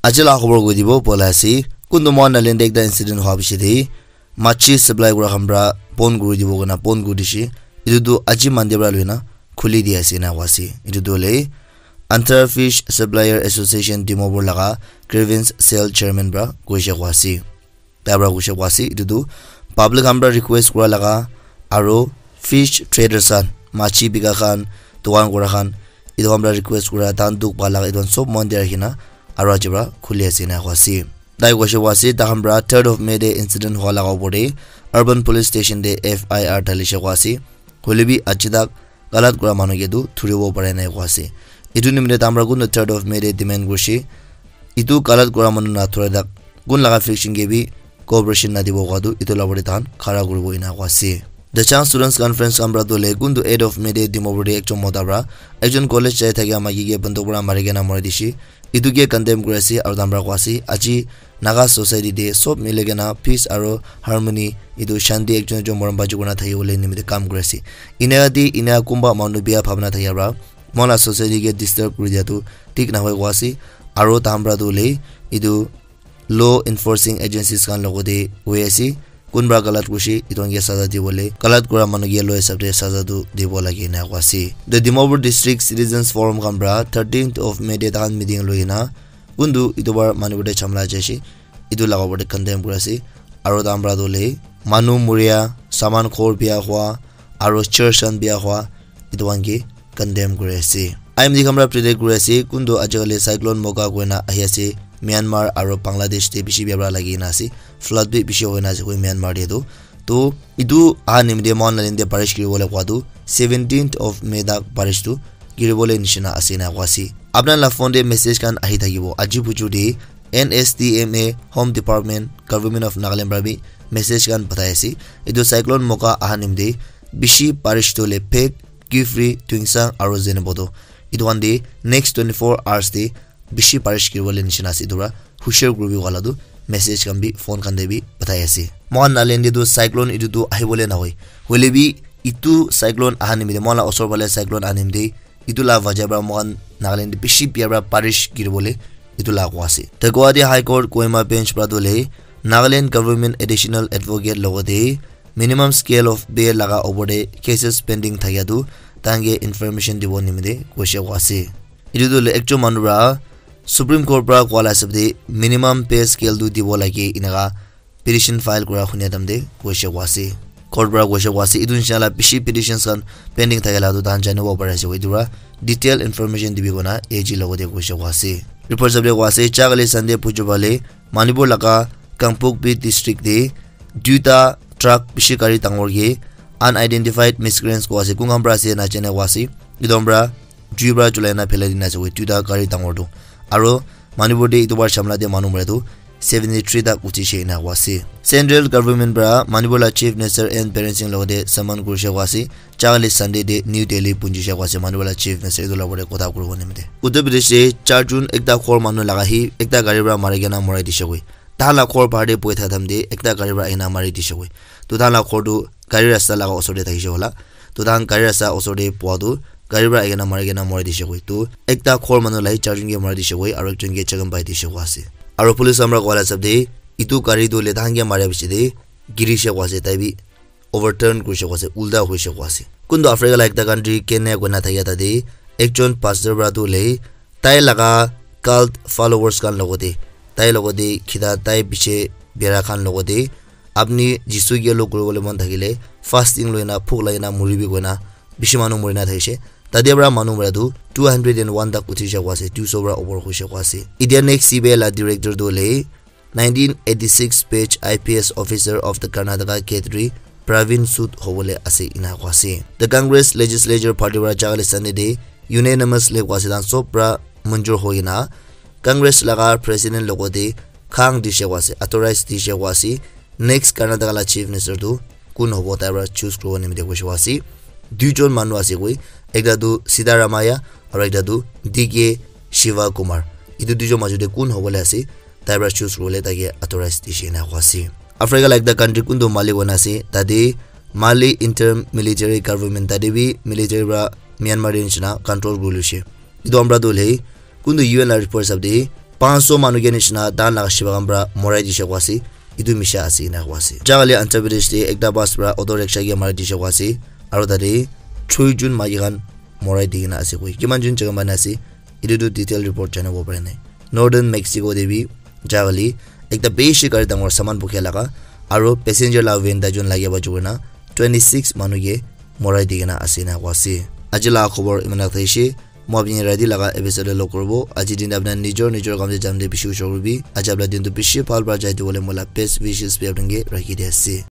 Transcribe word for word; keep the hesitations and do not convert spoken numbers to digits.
Aji la khobor koi dibo bola ase, kuntu mohan Nagaland te ekta incident hwa bishi de, machi supply kura khan pra bon kuri dibo koina bon kuri dishe. Etu tu aji Monday pra loina khuli di ase ena koi ase. Etu tu hoile Andhra Fish Supplier Association Dimapur laga grievance cell chairman pra koishe koi ase. Tai pra koishe koi ase, etu tu public khan pra request kura laga aro fish traders khan, machi bika khan, dukan kura khan, etu khan pra request kura, tahan dukh pa laga, etu khan sob mon te rakhina aro aji pra khuli ase ena koi ase. Tai koishe koi ase, takhan pra third of May te incident hwa laga opor te urban police station te F I R dalishe koi ase. Hoile bi aji tak galat kura manu ke tu thuribo pare nai koi ase. Etu nimite tahan pra kuntu third of May te demand kurishe. Etu galat kura manu na thura tak kun laga faction ke bi cooperation na dibo koi tu etu la opor te tahan khara kuribo ena koi ase. The Chang Students Conference khan pra tu le kuntu eight of May te Dimapur te ekjon mota pra ekjon college jai thakia maiki ke banduk pra mari kena mari dishe. Etu ke condemn kuri ase aro tahan pra koi ase, aji Naga society te sob mili kena peace aro harmony, etu shanti, ekjon ekjon morom baji kurina thaki bole nimite kam kuri ase. Ena yate ena kunba manu bia bhabna thakia pra mohan la society ke disturb kuri dia tu thik nahoi koi ase. Aro tahan pra tu hoile etu law enforcing agencies khan logote hoi ase, kunba galat kurishe etu khan ke saza dibole, galat kura manu ke law hisab te saza tu dibo lage ena koi ase. The Dimapur District Citizens Forum khan pra thirteenth of May te tahan meeting loi kena kuntu etu bar Manipur te jhamla jai ase, etu laga opor te condemn kuri ase. Aro tahan pra tu hoile manu muria, saman ghor bia hwa, aro church khan bia hwa, etu khan ke condemn kuri ase. I M D khan pra predict kuri ase, kuntu ajikali cyclone Moka koina ahi ase, Myanmar aro Bangladesh te bishi bia pra lagi kena ase, flood bi bishi hoina ase koi Myanmar te tu. To etu aha nimite mohan la line te barish giri bole koi tu seventeenth of May tak barish tu giri bole nishina ase ena koi ase. Apna la phone te message khan ahi thakibo, aji bujur te N S T M A, Home Department, Government of Nagaland pra bi message khan pathai ase. Etu cyclone Moka aha nimite bishi barish tu le Phek, Kiphire, Tuensang aro Zunheboto, etu khan te next twenty-four hours te bishi barish giri bole nishina ase. Etu pra hushar kuribi wala tu message khan bi phone khan te bi pathai ase. Mohan Nagaland te tu cyclone etu tu ahi bole nahoi, hoile bi etu cyclone aha nimite, mohan la osor phale cyclone aha nimite etu la wajah pra mohan Nagaland te bishi bia pra barish giri bole etu la koi ase. The Guwahati High Court Kohima Bench pra tu hoile Nagaland Government Additional Advocate logote minimum scale of bail laga opor te cases pending thakia tu tahan ke information dibo nimite koishe koi ase. Etu tu hoile ekjon manu pra Supreme Court pra koa la hisab te minimum pay scale tu dibo lage enaka petition file kura hunia time te koishe koi ase. Court pra koishe koi ase, etu nishina la bishi petitions khan pending thakila tu tahan janibo pari ase koi, etu pra detail information dibi koina A G logote koishe koi ase. Report hisab te koi ase, ja kali Sunday bujor phale Manipur laga Kangpokpi district te duita truck bishi gari dangor ke unidentified miscreants koi ase, kun khan pra ase najane koi ase, etu khan pra jui pra julai na phelai dina ase koi, duita gari dangor tu. Aro Manipur te etu bar shamla te manu mara tu seventy three tak uthi she ena koi ase. Central government pra Manipur la Chief Minister N Biren Singh logote summon kurishe koi ase. Ja kali Sunday te New Delhi punjishe koi ase Manipur la Chief Minister etu la opor te kotha kuribo nimite. Uttar Pradesh te char jun ekta ghor manu laga hi ekta gari pra mari kena morai dishe koi. Tahan la ghor bahar te bohi thaka time te ekta gari pra ahina mari dishe koi. To tahan la ghor tu gari rasta laga osor te thakishe hola. To tahan gari rasta osor te boha tu gari pra ahikena mari kena morai dishe koi. To ekta ghor manu la hi charjun ke morai dishe koi, aro ekjun ke jakham pai dishe koi ase. Aro police khan pra koa la hisab te etu gari tu hoile tahan ke maria piche te girishe koi ase, tai bi overturn kurishe koi ase, ulta hoishe koi ase. Kuntu Africa la ekta country Kenya koina thakia tate ekjun pastor pra tu hoile tai laga cult followers khan logote, tai logote khita, tai piche bera khan logote apni Jisu ke log kuribole mon thakile fasting loina bhuk lagina muribi koina bishi manu murina thakishe. Tate pra manu mura tu two hundred and one tak uthi ja koi ase, two so pra opor hoishe koi ase. Etia next C B I la director tu hoile nineteen eighty-six batch I P S officer of the Karnataka Cadre Praveen Sood hobole ase ena koi ase. The Congress Legislature Party pra ja kali Sunday te unanimously koi ase, tahan sob pra manjur hoi kena Congress laga president logote khang dishe koi ase, authorize dishe koi ase, next Karnataka la chief minister tu kun hobo tai pra choose kuribo nimite koishe koi ase. Duijon manu ase koi, ekta tu Siddaramaiah aro ekta tu D K Shivakumar. Etu duijon majot te kun hobole ase, tai pra choose kuribole tai ke authorize dishe ena koi ase. Africa la ekta country kuntu Mali koina ase, tate Mali interim military government, tate bi military pra Myanmar te nishina control kuri loishe. Etu khan pra tu hoile kuntu U N la report hisab te panch sho manu ke nishina dan laga shiba khan pra morai dishe koa ase. Etu misha ase ena koa ase. Jagali Andhra Pradesh te ekta bus pra auto rickshaw ke mari dishe koa ase. Aro tate choi jun maiki khan morai di kena ase koi. Kiman jun jaga manu ase, etu tu detail report janibo pare nai. Northern Mexico te bi jagali ekta bishi gari dangor saman bukhia laga aro passenger la van tai jun lage ba jukuna twenty six manu ke morai di kena ase ena koa ase. Aji la khobor iman tak thakishi. Moi apni rati laga episode te log koribo. Aji din te apni nijor nijor kam te jam te bishi ushor kuribi. Aji apni din tu bishi bhal pra jai tu bole moi la best wishes bi apni ke rakhi di ase.